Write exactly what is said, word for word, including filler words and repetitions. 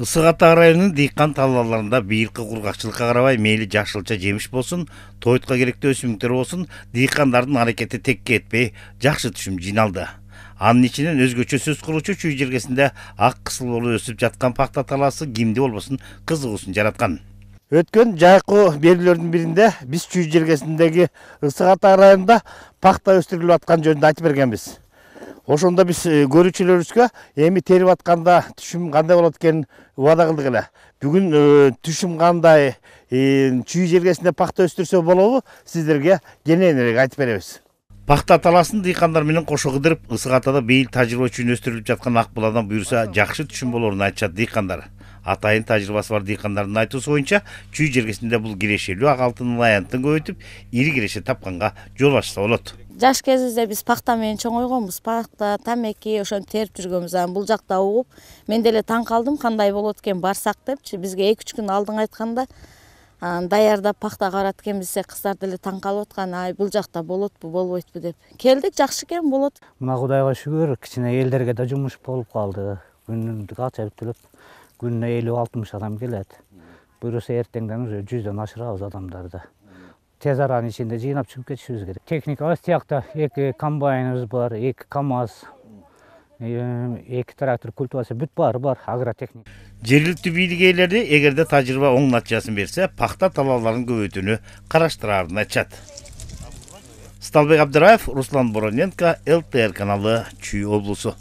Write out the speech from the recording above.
Ысык Ата районунун дыйкан талааларында быйылкы кургакчылыкка карабай мейли жашылча жемиш болсун, тойтко керектүү өсүмдүктөр болсун, дыйкандардын аракети текке этпей жакшы түшүм жыйналды. Анын ичинен өзгөчө сөз кылуучу чүй жергесинде ак кысыл болуп өсүп жаткан пахта талаасы кимди болбосун кызыгуусун жараткан. Өткөн жайкы берүүлөрдүн биринде биз чүй жергесиндеги Ысык Ата районунда пахта өстүрүлүп аткан жөнүндө айтып бергенбиз. Ошондо биз көрүүчүлөрүбүзгө эми терип атканда түшүм кандай болот экенин убада кылдык эле. Бүгүн түшүм кандай, чүй жергесинде пахта өстүрсө болобу, сиздерге кененирээк айтып беребиз. Пахта талаасын дыйкандар менен кошо кыдырып, Ысык Атада быйыл тажрыйба үчүн өстүрүлүп жаткан ак буладан буюрса жакшы түшүм болоорун айтышат дыйкандар. Атайын тажрыйбасы бар дыйкандардын айтуусу боюнча, чүй жергесинде бул кирешелүү ак алтын аянтын көбөйтүп, ири киреше тапканга жол ачса болот. Жаш кезибизде биз пахта менен чоңойгонбуз. Пахта, тамеки ошентип терип жүргөнбүз. Анан бул жакта угуп, мен деле таң калдым, кандай болот экен барсак депчи. Бизге эки үч күн алдын айтканда, анан даярдап пахта карат экенбиз, кыздар деле таң калып аткан. Ай, бул жакта болотпу, болбойтпу деп. Келдик, жакшы экен, болот. Мына Кудайга шүгүр, кичине элдерге да жумуш болуп калды. Күнүндүк акча бүтүлүп, күнүнө элүү алтымыш адам келет. Буюрса эртеңден уже жүздөн ашырабыз адамдарды. Тез аранын ичинде жыйнап чыгып кетишибиз керек. Техникабыз тиякта эки комбайныбыз бар, эки КАМАЗ, эки трактор культивация бүт баары бар, агротехника. Жергиликтүү бийлик ээлери эгерде тажрыйба оң натыйжасын берсе, пахта талааларын көбөйтүүнү караштыраарын айтышат. Сталбек Абдыраев, Руслан Бороненко, эл тэ эр каналы, Чүй облусу.